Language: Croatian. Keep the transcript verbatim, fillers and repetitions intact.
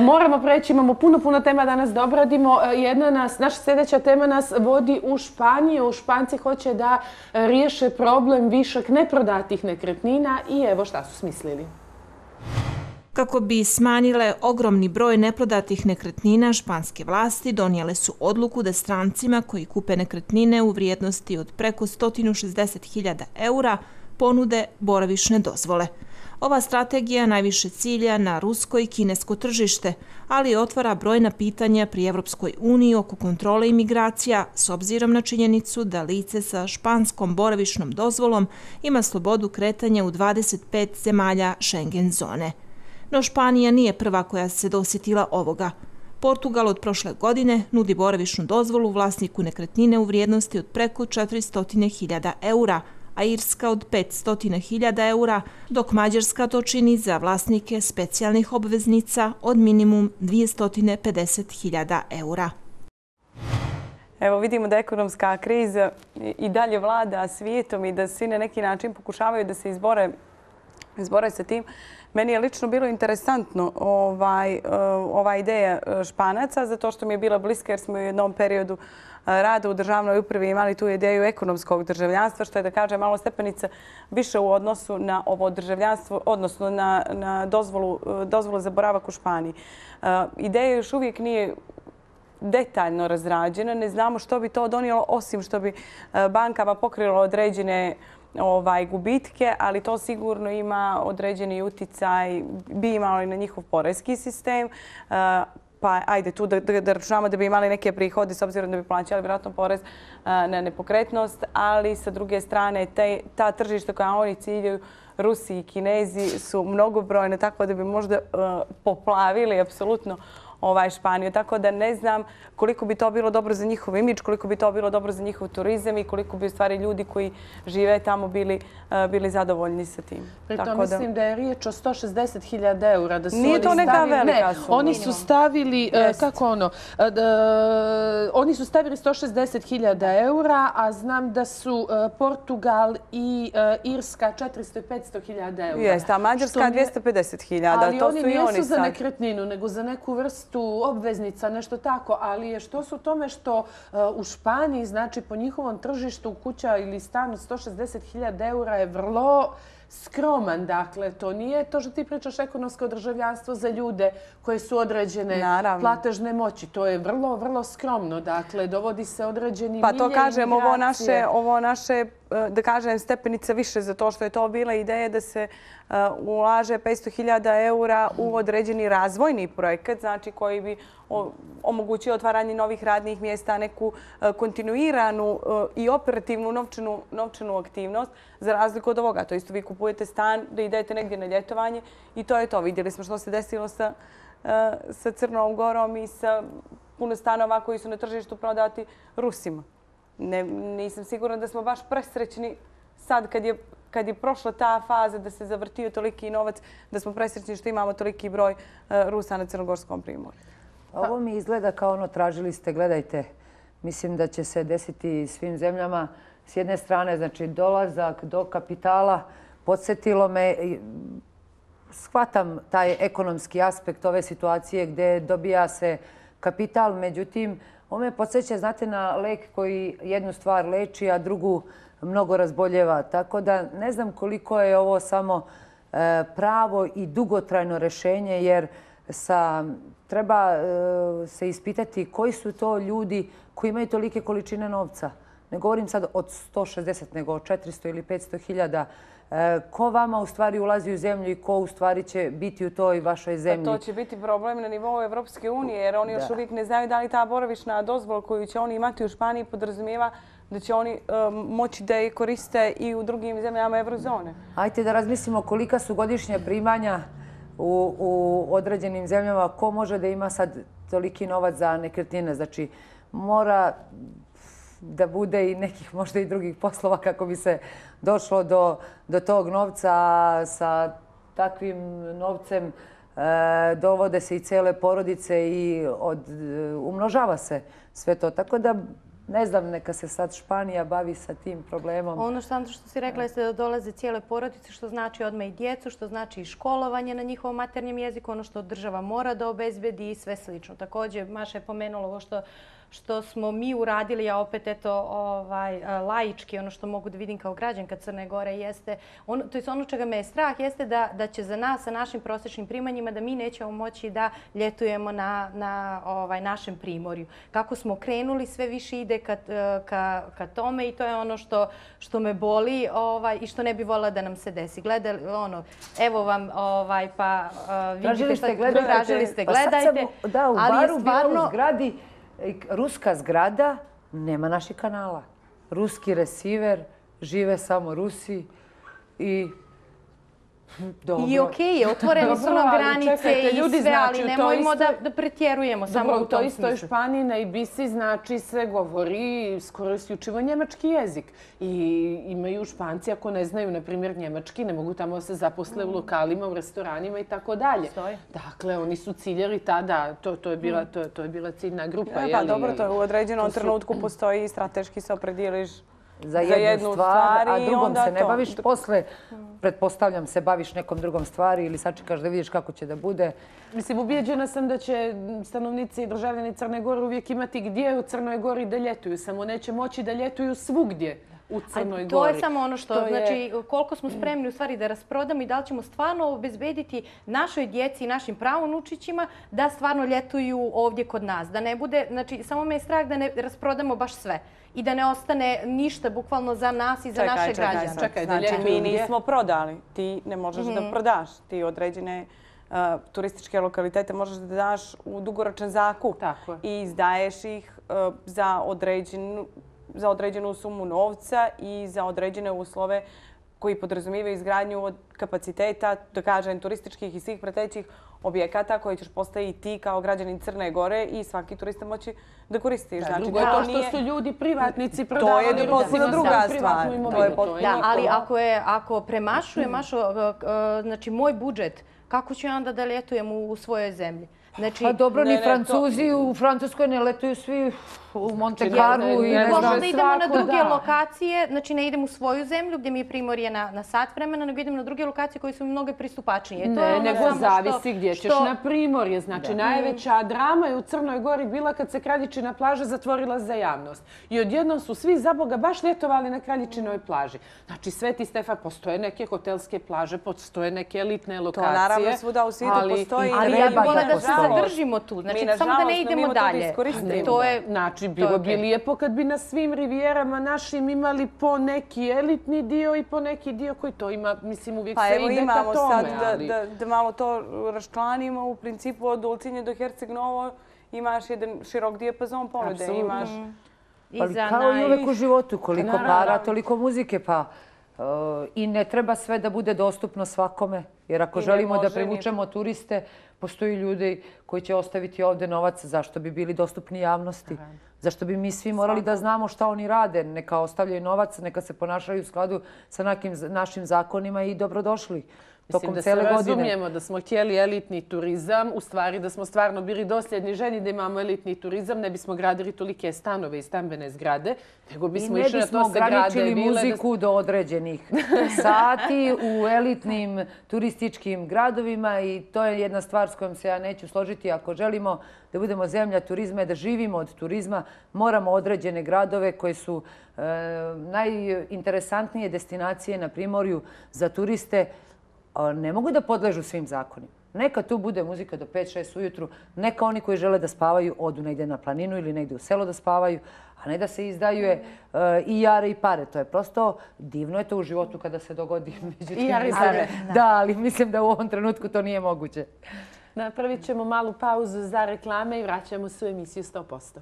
moramo preći, imamo puno, puno tema danas da obradimo. Jedna nas, naša sljedeća tema nas vodi u Španiju. Španci hoće da riješe problem višak neprodatih nekretnina i evo šta su smislili. Kako bi smanjile ogromni broj neprodatih nekretnina, španske vlasti donijele su odluku da strancima koji kupe nekretnine u vrijednosti od preko sto šezdeset hiljada eura ponude boravišne dozvole. Ova strategija najviše cilja na rusko i kinesko tržište, ali otvara brojna pitanja pri Evropskoj uniji oko kontrole imigracija s obzirom na činjenicu da lice sa španskom boravišnom dozvolom ima slobodu kretanja u dvadeset pet zemalja Schengen zone. No Španija nije prva koja se dosjetila ovoga. Portugal od prošle godine nudi boravišnu dozvolu vlasniku nekretnine u vrijednosti od preko četiristo hiljada eura, a Irska od petsto hiljada eura, dok Mađarska to čini za vlasnike specijalnih obveznica od minimum dvjesto pedeset hiljada eura. Evo vidimo da ekonomska kriza i dalje vlada svijetom i da svi na neki način pokušavaju da se izbore, izbore sa tim. Meni je lično bilo interesantno ovaj, ova ideja Španaca, zato što mi je bila bliska jer smo u jednom periodu rada u državnoj upravi imali tu ideju ekonomskog državljanstva, što je da kaže malo stepenica više u odnosu na ovo državljanstvo, odnosno na, na dozvolu, dozvolu za boravak u Španiji. Ideja još uvijek nije detaljno razrađena. Ne znamo što bi to donijelo, osim što bi bankama pokrilo određene ovaj, gubitke, ali to sigurno ima određeni uticaj, bi imalo i na njihov porezki sistem. Pa ajde tu da, da, da računamo da bi imali neke prihode s obzirom da bi plaćali vjerojatno porez a, na nepokretnost, ali sa druge strane te, ta tržišta koja oni ciljaju, Rusi i Kinezi, su mnogobrojne, tako da bi možda a, poplavili apsolutno ovaj Španiju. Tako da ne znam koliko bi to bilo dobro za njihov imidž, koliko bi to bilo dobro za njihov turizam i koliko bi u stvari ljudi koji žive tamo bili, uh, bili zadovoljni sa tim. Pritom Tako mislim da je riječ o sto šezdeset hiljada eura. Da su Nije oni to neka stavili, velika ne, suma. Oni su stavili, uh, kako ono, uh, uh, oni su stavili sto šezdeset hiljada eura, a znam da su uh, Portugal i uh, Irska četiristo i petsto hiljada eura. Jeste, a Mađarska dvjesto pedeset hiljada. Ali to oni su i nisu oni za sad. nekretninu, nego za neku vrstu obveznica, nešto tako. Ali je što su u tome što uh, u Španiji, znači po njihovom tržištu kuća ili stan od sto šezdeset hiljada eura je vrlo skroman. Dakle, to nije to što ti pričaš ekonomsko državljanstvo za ljude koje su određene Naravno. platežne moći. To je vrlo, vrlo skromno. Dakle, dovodi se određeni Pa milje to kažem, ovo imigracije. naše, ovo naše, da kažem, stepenica više za to što je to bila ideja da se uh, ulaže petsto hiljada eura u određeni razvojni projekat, znači koji bi o, omogućio otvaranje novih radnih mjesta, neku uh, kontinuiranu uh, i operativnu novčanu, novčanu aktivnost, za razliku od ovoga. To isto vi kupujete stan, da idete negdje na ljetovanje i to je to. Vidjeli smo što se desilo sa, uh, sa Crnom Gorom i sa puno stanova koji su na tržištu prodati Rusima. Ne, nisam sigurna da smo baš presrećni sad kad je, kad je prošla ta faza da se zavrtio toliki novac, da smo presrećni što imamo toliki broj uh, Rusa na Crnogorskom primorju. Ovo mi izgleda kao ono, tražili ste, gledajte, mislim da će se desiti svim zemljama. S jedne strane, znači, dolazak do kapitala, podsjetilo me, shvatam taj ekonomski aspekt ove situacije gdje dobija se kapital, međutim, ovo me podsjeća, znate, na lek koji jednu stvar leči, a drugu mnogo razboljeva. Tako da ne znam koliko je ovo samo e, pravo i dugotrajno rješenje, jer sa, treba e, se ispitati koji su to ljudi koji imaju tolike količine novca. Ne govorim sad od sto šezdeset, nego od četiristo ili petsto hiljada. E, ko vama u stvari ulazi u zemlju i ko u stvari će biti u toj vašoj zemlji? Pa to će biti problem na nivou Evropske unije, jer oni još uvijek ne znaju da li ta boravišna dozvola koju će oni imati u Španiji podrazumijeva da će oni um, moći da je koriste i u drugim zemljama Eurozone. Ajde da razmislimo kolika su godišnje primanja u, u određenim zemljama. Ko može da ima sad toliki novac za nekretnine? Znači, mora da bude i nekih možda i drugih poslova kako bi se došlo do, do tog novca. Sa takvim novcem e, dovode se i cele porodice i od, umnožava se sve to. Tako da ne znam, neka se sad Španija bavi sa tim problemom. Ono što, što si rekla jeste da dolaze cijele porodice, što znači odmah i djecu, što znači i školovanje na njihovom maternjem jeziku, ono što država mora da obezbedi i sve slično. Također, Maša je pomenula ovo što što smo mi uradili, a opet eto ovaj, laički, ono što mogu da vidim kao građanka Crne Gore jeste, on, to je ono čega me je strah, jeste da, da će za nas sa našim prosječnim primanjima da mi nećemo moći da ljetujemo na, na ovaj, našem primorju. Kako smo krenuli, sve više ide ka, ka, ka tome i to je ono što, što me boli ovaj, i što ne bi voljela da nam se desi. Gledali, ono, evo vam, ovaj, pa uh, vidite šta tražili ste, gledajte. Pa sam, da, u ali baru stvarno, bila u zgradi, ruska zgrada, nema naših kanala. Ruski receiver, žive samo Rusi i dobro. I okej je, otvorene su nam granice i sve, ali nemojmo da pretjerujemo samo u tom smislu. U toj istoj Španiji na Ibisi znači se govori skoro isključivo njemački jezik. I imaju Španci, ako ne znaju, na primjer, njemački, ne mogu tamo se zaposle u lokalima, u restoranima i tako dalje. Dakle, oni su ciljali tada, to je bila to je bila ciljna grupa. Pa dobro, to je u određenom trenutku postoji i strateški se opredijeliš za jednu stvar, a drugom se ne baviš. Posle, pretpostavljam, se baviš nekom drugom stvari ili sačekaš da vidiš kako će da bude. Mislim, ubijeđena sam da će stanovnici i državljani Crne Gore uvijek imati gdje u Crnoj Gori da ljetuju. Samo neće moći da ljetuju svugdje u Crnoj Gori. To je samo ono što, znači, koliko smo spremni u stvari da rasprodamo i da li ćemo stvarno obezbediti našoj djeci i našim pravunučićima da stvarno ljetuju ovdje kod nas. Da ne bude, znači, samo me je strah da ne rasprodamo baš sve i da ne ostane ništa bukvalno za nas i za naše građane. Čekaj, znači mi nismo prodali. Ti ne možeš da prodaš. Ti određene turističke lokalitete možeš da daš u dugoročan zakup i izdaješ ih za određenu za određenu sumu novca i za određene uslove koji podrazumijevaju izgradnju kapaciteta, da kažem, turističkih i svih pratećih objekata koje ćeš postaviti ti kao građanin Crne Gore i svaki turista moći da koristiš. Drugo je to što su ljudi privatnici prodavali. To je potpuno druga stvar. Da, ali ako premašuje znači moj budžet, kako ću ja onda da ljetujem u svojoj zemlji? Pa dobro, ni Francuzi u Francuskoj ne letuju svi u Monte Carlo i ne znam. Možda idemo na druge lokacije, znači ne idem u svoju zemlju gdje mi je primorje na sat vremena, nego idem na druge lokacije koje su mnogo pristupačnije. Ne, nego zavisi gdje ćeš na primorje. Znači najveća drama je u Crnoj Gori bila kad se Kraljičina plaža zatvorila za javnost. I odjednom su svi za Boga baš ljetovali na Kraljičinoj plaži. Znači Sveti Stefan, postoje neke hotelske plaže, postoje neke elitne lokacije. To naravno svuda u svijetu postoji. Ali ja bih voljela da se zadržimo tu. Znači samo da ne idemo dalje. To je Znači, bilo bi lijepo kad bi na svim rivijerama našim imali po neki elitni dio i po neki dio koji to ima, mislim, uvijek se ide ka tome. Pa evo imamo sad da malo to raščlanimo. U principu od Ulcinje do Herceg Novo imaš jedan širok dijapazon ponude. Ali kao i uvek u životu, koliko para, toliko muzike, pa i ne treba sve da bude dostupno svakome. Jer ako želimo da privučemo turiste, postoji ljudi koji će ostaviti ovdje novac, zašto bi bili dostupni javnosti? Zašto bi mi svi morali da znamo šta oni rade? Neka ostavljaju novac, neka se ponašaju u skladu sa našim zakonima i dobrodošli. Mislim da se razumijemo da smo htjeli elitni turizam, u stvari da smo stvarno bili dosljedni ženi da imamo elitni turizam, ne bismo gradili tolike stanove i stambene zgrade, nego bismo išli na to se grade. I ne bismo ograničili muziku do određenih sati u elitnim turističkim gradovima i to je jedna stvar s kojom se ja neću složiti. Ako želimo da budemo zemlja turizma i da živimo od turizma, moramo određene gradove koje su najinteresantnije destinacije na primorju za turiste, ne mogu da podležu svim zakonima. Neka tu bude muzika do pet šest ujutru, neka oni koji žele da spavaju odu negdje na planinu ili negdje u selo da spavaju, a ne da se izdaju i jare i pare. To je prosto divno je to u životu kada se dogodi. I jare i pare. Da, ali mislim da u ovom trenutku to nije moguće. Napravit ćemo malu pauzu za reklame i vraćamo se u emisiju sto posto.